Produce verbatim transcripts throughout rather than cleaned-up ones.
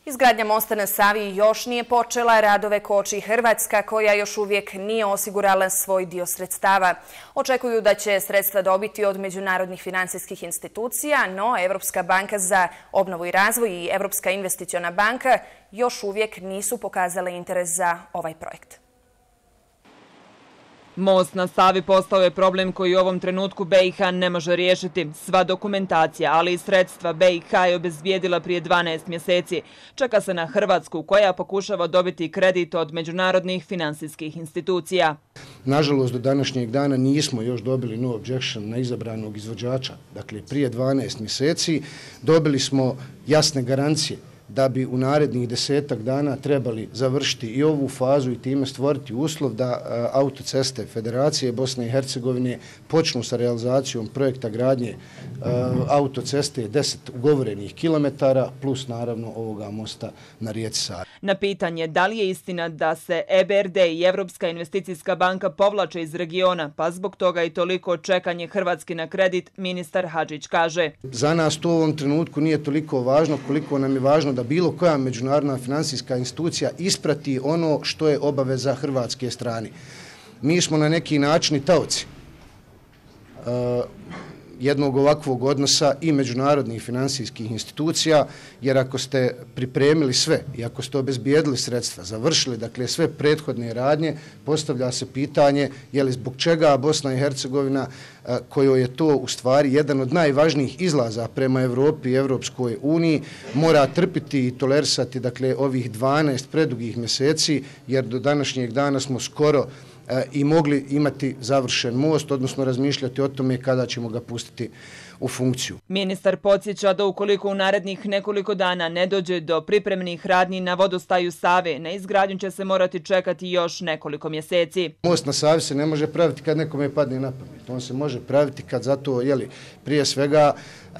Izgradnja mosta na Savi još nije počela, radove koči Hrvatska koja još uvijek nije osigurala svoj dio sredstava. Očekuju da će sredstva dobiti od međunarodnih financijskih institucija, no Europska banka za obnovu i razvoj i Europska investiciona banka još uvijek nisu pokazale interes za ovaj projekt. Most na Savi postao je problem koji u ovom trenutku B i H ne može riješiti. Sva dokumentacija, ali i sredstva B i H je obezbijedila prije dvanaest mjeseci. Čeka se na Hrvatsku koja pokušava dobiti kredit od međunarodnih financijskih institucija. Nažalost, do današnjeg dana nismo još dobili no objection na izabranog izvođača. Dakle, prije dvanaest mjeseci dobili smo jasne garancije da bi u narednih desetak dana trebali završiti i ovu fazu i time stvoriti uslov da autoceste Federacije Bosne i Hercegovine počnu sa realizacijom projekta gradnje autoceste deset ugovorenih kilometara plus naravno ovoga mosta na rijeci Savi. Na pitanje da li je istina da se E B R D i Europska investicijska banka povlače iz regiona, pa zbog toga i toliko čekanje Hrvatske na kredit, ministar Hadžić kaže. Za nas to u ovom trenutku nije toliko važno koliko nam je važno da bilo koja međunarodna financijska institucija isprati ono što je obaveza hrvatske strane. Mi smo na neki način taoci uh, jednog ovakvog odnosa i međunarodnih financijskih institucija, jer ako ste pripremili sve i ako ste obezbijedili sredstva, završili dakle sve prethodne radnje, postavlja se pitanje je li zbog čega Bosna i Hercegovina, kojoj je to u stvari jedan od najvažnijih izlaza prema Evropi i Evropskoj uniji, mora trpiti i tolerisati dakle ovih dvanaest predugih mjeseci, jer do današnjeg dana smo skoro i mogli imati završen most, odnosno razmišljati o tome kada ćemo ga pustiti u funkciju. Ministar podsjeća da ukoliko u narednih nekoliko dana ne dođe do pripremnih radnji na vodostaju Save, na izgradnju će se morati čekati još nekoliko mjeseci. Most na Savi se ne može praviti kad nekome padne na pamet. On se može praviti kad zato, jeli, prije svega e,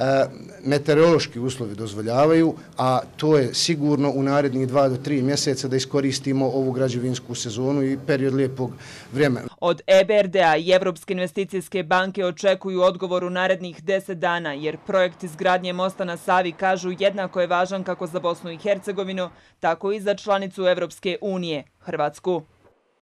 meteorološki uslovi dozvoljavaju, a to je sigurno u narednih dva do tri mjeseca da iskoristimo ovu građevinsku sezonu i period lijepog vremena. Od E B R D-a i Europske investicijske banke očekuju odgovor u narednih deset dana, jer projekt izgradnje mosta na Savi, kažu, jednako je važan kako za Bosnu i Hercegovinu, tako i za članicu Evropske unije, Hrvatsku.